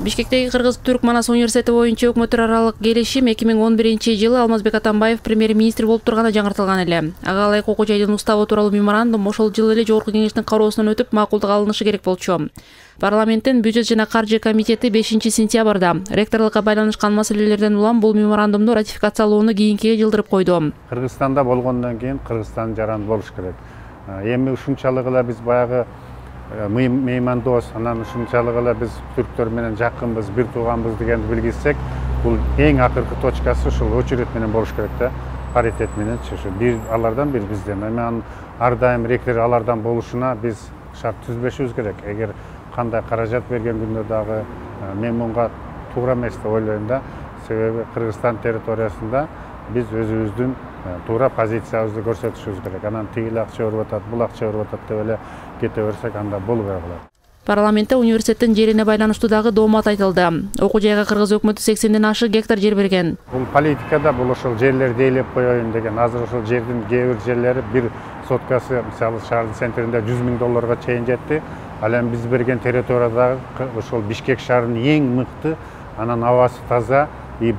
Бишкектеги Кыргыз-Түрк Манас университети боюнча өкмөттөр аралык келишим 2011-жылы Алмазбек Атамбаев премьер-министр болуп турганда жаңыртылган эле. Ага ылайык окуу жайдын уставы тууралуу меморандум ошол жылы эле Жогорку кеңештин кароосунан өтүп макулдук алынышы керек болчу. Парламенттин бюджет жана каржы комитети 5-сентябрда ректорлукка байланышкан маселелерден улам бул меморандумду ратификациялоону кийинкиге жылдырып койду. Кыргызстанда болгондон кийин Кыргызстан жаран болуш керек. Эми ушунчалык эле биз баягы меймандос, анан ушунчалык эле биз түрктөр менен жакынбыз, бир тууганбыз дегенди билгизсек, бул эң акыркы точкасы ушул очередь менен болуш керек да, паритет менен чыгышы. Бир алардан, бир бизден. Эми ар дайым ректор алардан болушуна биз шарт түзбөшүбүз керек. Эгер кандай каражат берген күндө дагы мен мунга туура эмес деп ойлойм да. Себеби Кыргызстан территориясында биз өзүбүздүн туура позициябызды көрсөтүшүбүз керек. Анан тигил акча өөрүп атат, бул акча өөрүп атат деп эле кете берсек, анда болбой калат. Парламентте университеттин жерине байланыштуу дагы доомат айтылды. Окуу жайга Кыргыз өкмөтү 80ден ашык гектар жер берген. Бул политикада бул ошол жерлерди ээлеп коеюн деген. Азыр ошол жердин кээ бир жерлери бир соткасы, мисалы шаардын центринде $100,000 чейин жетти. Ал эми биз берген территориядагы ошол Бишкек шаарынын эң мыкты, анан абасы таза,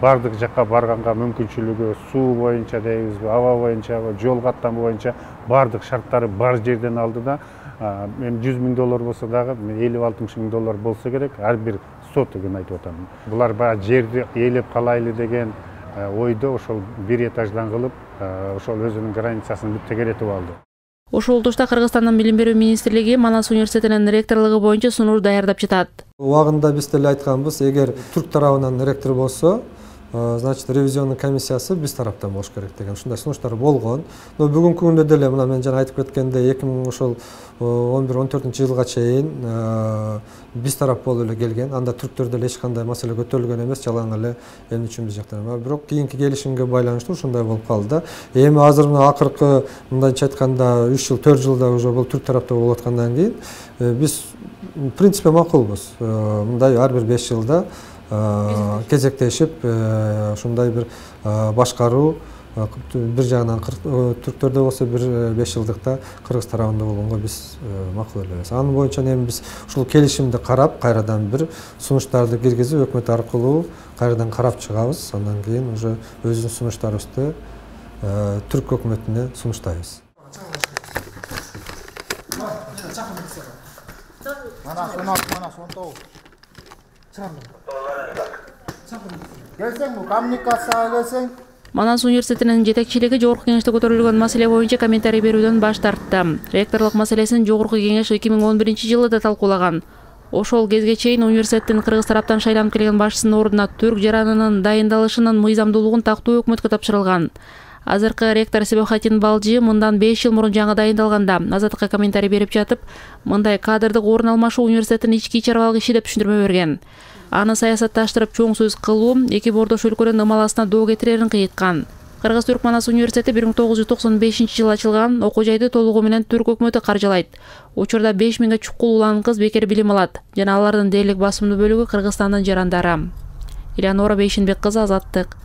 бардык жакка барганга мүмкүнчүлүгү, суу боюнча дейбизби, аба боюнча, жол каттамы боюнча бардык шарттары бар жерден алды да. Эми $100,000 болсо дагы $50-60,000 болсо керек, ар бир сотыгын айтып атам. Булар баягы жерди ээлеп калайлы деген ойдо ошол бир этаждан кылып, ошол өзүнүн границасын бүт тегеретип алды. Ошол тушта Кыргызстандын билим берүү министрлиги Манас университетинин ректорлугу боюнча сунуш даярдап жатат. Убагында биз деле айтканбыз, эгер түрк тарабынан ректор болсо, значит, ревизионный комиссиясы биз тараптан болуш керек деген ушундай сунуштар болгон. Но бүгүнкү күндө деле мына мен жана айтып кеткендей 2011-14-жылга чейин биз тарап болуп эле келген. Анда түрктөр деле эч кандай маселе көтөрүлгөн эмес, жалаң эле эмне үчүн биз жактан. Бирок кийинки келишимге байланыштуу ушундай болуп калды да. Эми азыр мына акыркы мындайча айтканда 3 жыл, 4 жылда уже бул түрк тарапта болуп аткандан кийин биз в принципе макулбуз. Мындай ар бир 5 жылда кезектешип ушундай бир башкаруу бир жагынан түрктөрдө болсо бир 5 жылдыкта Кыргыз тарабында болгонго биз макул элебиз. Анын боюнча эми биз ушул келишимди карап, кайрадан бир сунуштарды киргизип, өкмөт аркылуу кайрадан карап чыгабыз. Андан кийин уже өзүбүздүн сунуштарыбызды түрк өкмөтүнө сунуштайбыз. Манас университетинин жетекчилиги Жогорку кеңеште көтөрүлгөн маселе боюнча комментарий берүүдөн баш тартты. Ректорлук маселесин Жогорку кеңеш 2011-жылы талкуулаган. Ошол кезге чейин университеттин Кыргыз тараптан шайланып келген башчысынын ордуна түрк жаранынын дайындалышынын мыйзамдуулугун тактоо өкмөткө тапшырылган. Азыркы ректор Себехатин Балжи мындан 5 жыл мурун жаңы дайындалганда Азаттыкка комментарий берип жатып, мындай кадрдык орун алмашуу университеттин ички чарабалык иши деп түшүндүрмө берген. Аны саясатташтырып чоң сөз кылуу эки бордош өлкөнүн ымаласына доо кетирерин кыйыткан. Кыргыз-Түрк Манас университети 1995-жылы ачылган, окуу жайды толугу менен түрк өкмөтү каржылайт. Учурда 5000 чукул улан кыз бекер билим алат жана алардын дээрлик басымдуу бөлүгү Кыргызстандын жарандары. Элеонора Бейшенбек кызы, Азаттык.